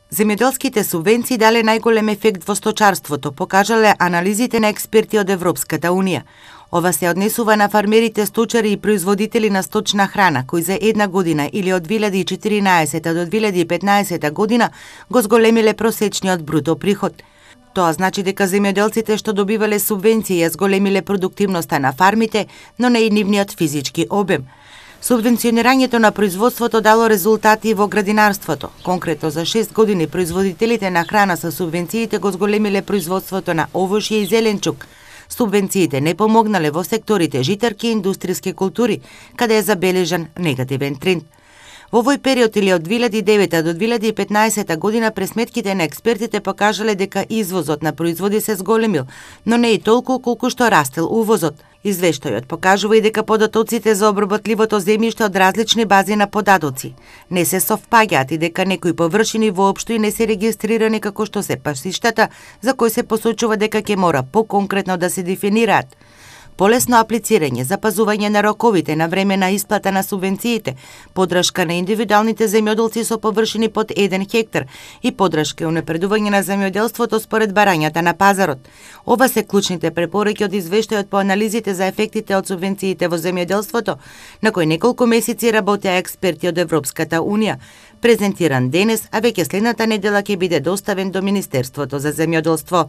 Земјоделските субвенции дале најголем ефект во сточарството, покажале анализите на експерти од Европската Унија. Ова се однесува на фармерите, сточари и производители на сточна храна, кои за една година или од 2014 до 2015 година го зголемиле просечниот бруто приход. Тоа значи дека земјоделците што добивале субвенции ја зголемиле продуктивноста на фармите, но не и нивниот физички обем. Субвенционирањето на производството дало резултати во градинарството. Конкретно за 6 години производителите на храна со субвенциите го зголемиле производството на овошје и зеленчук. Субвенциите не помогнале во секторите житарки и индустријски култури, каде е забележан негативен тренд. Во овој период или од 2009 до 2015 година пресметките на експертите покажале дека извозот на производи се зголемил, но не и толку колку што растел увозот. Извештајот покажува и дека податоците за обработливото земјиште од различни бази на податоци не се совпаѓаат и дека некои површини воопшто и не се регистрирани како што се пасиштата, за кои се посочува дека ќе мора поконкретно да се дефинираат. Полесно аплицирање, запазување на роковите на време на исплата на субвенциите, подршка на индивидуалните земјоделци со површини под 1 хектар и подршка и унапредување на земјоделството според барањата на пазарот. Ова се клучните препораки од извештајот по анализите за ефектите од субвенциите во земјоделството, на кои неколку месеци работеа експерти од Европската Унија, презентиран денес, а веќе следната недела ќе биде доставен до Министерството за земјоделство.